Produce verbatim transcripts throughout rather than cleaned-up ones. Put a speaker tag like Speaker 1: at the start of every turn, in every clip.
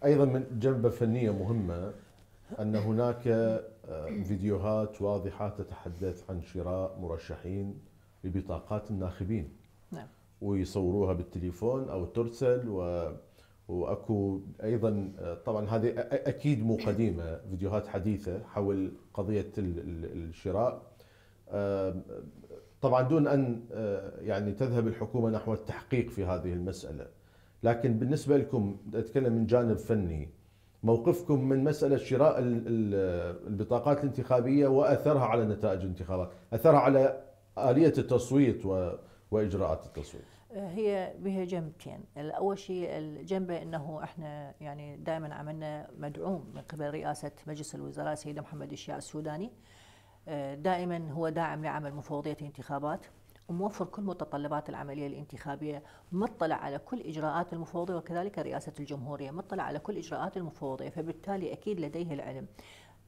Speaker 1: ايضا من جنبه فنيه مهمه ان هناك فيديوهات واضحه تتحدث عن شراء مرشحين ببطاقات الناخبين.
Speaker 2: نعم.
Speaker 1: ويصوروها بالتليفون او ترسل و واكو ايضا طبعا هذه اكيد مو قديمه، فيديوهات حديثه حول قضيه الشراء، طبعا دون ان يعني تذهب الحكومه نحو التحقيق في هذه المساله. لكن بالنسبه لكم اتكلم من جانب فني، موقفكم من مساله شراء البطاقات الانتخابيه واثرها على نتائج الانتخابات، اثرها على آلية التصويت واجراءات التصويت.
Speaker 2: هي بها جنبتين، اول شيء الجنبه انه احنا يعني دائما عملنا مدعوم من قبل رئاسه مجلس الوزراء سيدنا محمد الشيع السوداني، دائما هو داعم لعمل مفوضيه الانتخابات وموفر كل متطلبات العمليه الانتخابيه، مطلع على كل اجراءات المفوضيه، وكذلك رئاسه الجمهوريه مطلع على كل اجراءات المفوضيه، فبالتالي اكيد لديه العلم.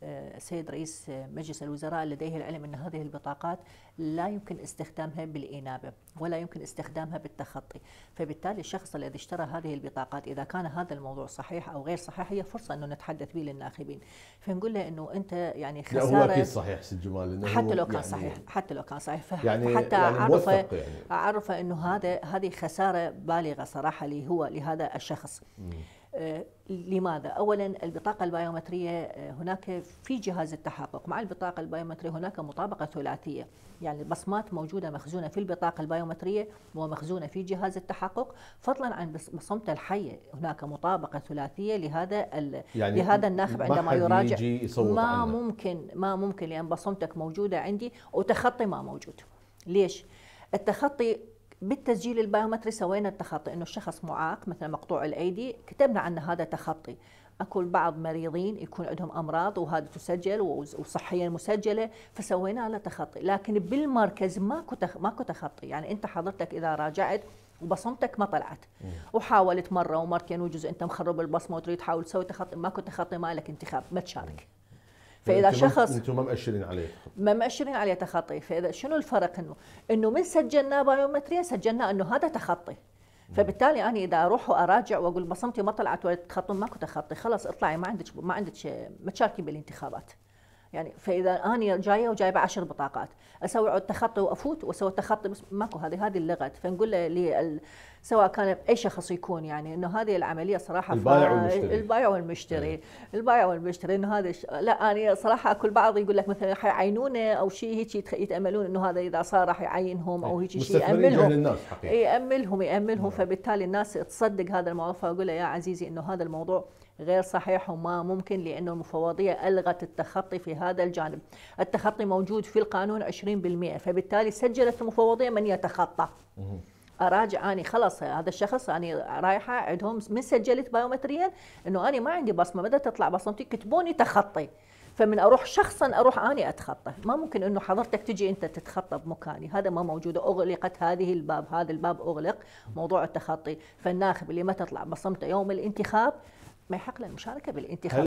Speaker 2: السيد رئيس مجلس الوزراء لديه العلم أن هذه البطاقات لا يمكن استخدامها بالإنابة ولا يمكن استخدامها بالتخطي، فبالتالي الشخص الذي اشترى هذه البطاقات إذا كان هذا الموضوع صحيح أو غير صحيح هي فرصة أنه نتحدث به للناخبين، فنقول له أنه أنت يعني خسارة.
Speaker 1: هو أكيد صحيح سيد جمال،
Speaker 2: حتى لو كان يعني صحيح، حتى لو كان صحيح،
Speaker 1: يعني
Speaker 2: فحتى
Speaker 1: يعني
Speaker 2: أعرفه
Speaker 1: يعني.
Speaker 2: أعرفه أنه هذا هذه خسارة بالغة صراحة لي هو لهذا الشخص. م. آه لماذا؟ اولا البطاقه البيومتريه آه هناك في جهاز التحقق، مع البطاقه البيومتريه هناك مطابقه ثلاثيه، يعني البصمات موجوده مخزونه في البطاقه البيومتريه ومخزونه في جهاز التحقق، فضلا عن بصمته الحيه هناك مطابقه ثلاثيه لهذا يعني لهذا الناخب عندما يراجع. ما عنه. ممكن ما ممكن لان بصمتك موجوده عندي وتخطي ما موجود. ليش؟ التخطي بالتسجيل البيومتري سوينا التخطي، انه الشخص معاق مثلا مقطوع الايدي كتبنا عنه هذا تخطي، اكو بعض مريضين يكون عندهم امراض وهذا تسجل وصحيا مسجله فسوينا له تخطي، لكن بالمركز ماكو ماكو تخطي، يعني انت حضرتك اذا راجعت وبصمتك ما طلعت وحاولت مره ومرتين وجزء انت مخرب البصمه وتريد تحاول تسوي تخطي، ماكو تخطي، ما لك انتخاب، ما تشارك. فاذا شخص
Speaker 1: انتم ما مؤشرين عليه
Speaker 2: ما مؤشرين عليه تخطي، فاذا شنو الفرق؟ انه انه من سجلناه بايومتريا سجلنا انه هذا تخطي، فبالتالي انا اذا اروح واراجع واقول بصمتي ما طلعت ولا تخطي ماكو تخطي، خلاص اطلعي ما عندك ما عندك ما تشاركي بالانتخابات. يعني فاذا انا جايه وجايبه عشر بطاقات اسوي عود تخطي وافوت واسوي تخطي بس ماكو، هذه هذه اللغط، فنقول له سواء كان اي شخص يكون يعني انه هذه العمليه صراحه
Speaker 1: البائع والمشتري
Speaker 2: البائع والمشتري البائع والمشتري انه هذا ش... لا انا صراحه اكل بعض يقول لك مثلا حيعينونه او شيء هيك يتاملون انه هذا اذا صار راح يعينهم او هيك شيء ياملهم ياملهم ياملهم فبالتالي الناس تصدق هذا الموضوع، فاقول له يا عزيزي انه هذا الموضوع غير صحيح وما ممكن، لأنه المفوضية ألغت التخطي في هذا الجانب. التخطي موجود في القانون عشرين بالمئة، فبالتالي سجلت المفوضية من يتخطى. أراجع أني خلص هذا الشخص أني رايحة عندهم من سجلت بايومتريا أنه أنا ما عندي بصمة، بدأ تطلع بصمتي كتبوني تخطي، فمن أروح شخصا أروح أني أتخطى، ما ممكن أنه حضرتك تجي أنت تتخطى بمكاني، هذا ما موجود، أغلقت هذه الباب، هذا الباب أغلق موضوع التخطي، فالناخب اللي ما تطلع بصمته يوم الانتخاب ما يحق له المشاركة بالانتخاب.